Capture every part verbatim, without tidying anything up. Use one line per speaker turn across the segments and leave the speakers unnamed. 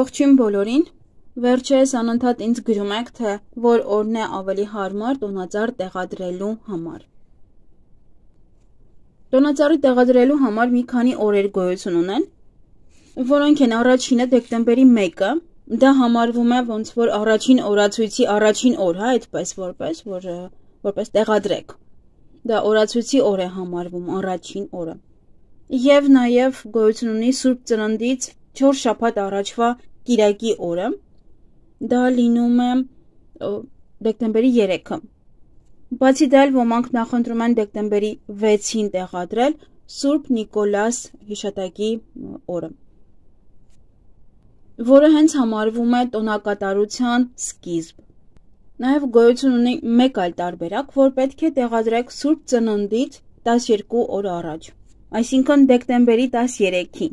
Ողջույն բոլորին, վերջերս անընդհատ ինձ գրում եք, թե որ օրն է ավելի հարմար տոնածառ տեղադրելու համար։ Տոնածառի տեղադրելու համար մի քանի օրեր գոյություն ունեն, որոնք են առաջինը դեկտեմբերի մեկը, դա համարվում է ոնց որ առաջին օրացույցի առաջին օր, հա, այդպես որպես, որ, որպես տեղադրեք, դա օրացույցի օր է համարվում, առաջին օրը, և նաև գոյություն ունի Սուրբ Ծննդից չորս շաբաթ առաջվա կիրակի օրը, դա լինում է դեկտեմբերի երեքը, բացի դա էլ ոմանք նախընտրում են դեկտեմբերի վեցին տեղադրել Սուրբ Նիկոլաս հիշատակի օրը, որը հենց համարվում է տոնակատարության սկիզբ, նաև գոյություն ունի մեկ այլ տարբերակ, որ պետք է տեղադրեք Սուրբ Ծննդից տասներկու օր առաջ, այսինքն դեկտեմբերի տասներեքին,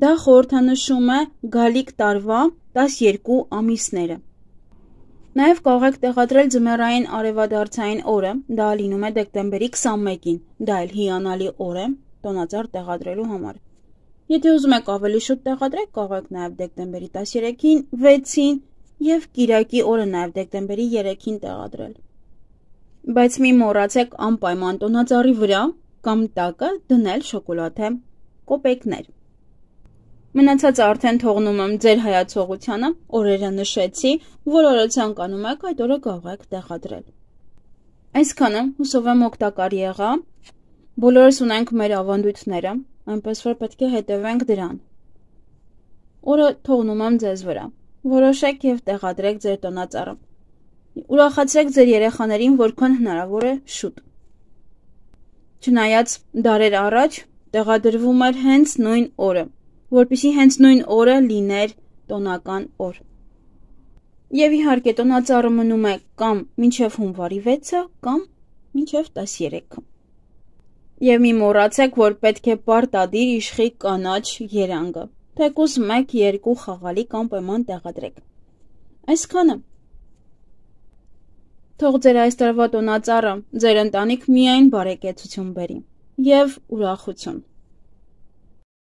դա խորհրդանշում է գալիք տարվա տասներկու ամիսները, նաև կարող եք տեղադրել ձմեռային արևադարձային օրը, դա լինում է դեկտեմբերի քսանմեկին, դա էլ հիանալի օր է տոնածառ տեղադրելու համար, եթե ուզում եք ավելի շուտ տեղադրեք, կարող եք նաև դեկտեմբերի տասներեքին, վեցին և կիրակի օրը նաև դեկտեմբերի երեքին տեղադրել, բայց մի մոռացեք անպայման տոնածառի վրա կամ տակը դնել շոկոլադե կոպեկներ, մնացածը արդեն թողնում եմ ձեր հայացողությանը, օրերը նշեցի, որ օրը ցանկանում եք, այդ օրը կարող եք տեղադրել, այսքանը հուսով եմ օգտակար եղա, բոլորս ունենք մեր ավանդույթները, այնպես որ պետք է հետևենք դրան, օրը թողնում եմ ձեզ վրա, որոշեք և տեղադրեք ձեր տոնածառը, ուրախացրեք ձեր երեխաներին որքան հնարավոր է շուտ, չնայած դարեր առաջ տեղադրվում էր հենց նույն օրը, որպեսզի հենց նույն օրը լիներ տոնական օր, և իհարկե տոնածառը մնում է կամ մինչև հունվարի վեցը, կամ մինչև տասներեքը, և մի մոռացեք, որ պետք է պարտադիր իշխի կանաչ երանգը, թեկուզ մեկ երկու խաղալիք անպայման տեղադրեք, այսքանը, թող ձեր այս տարվա տոնածառը ձեր ընտանիք միայն բարեկեցություն բերի և ուրախություն։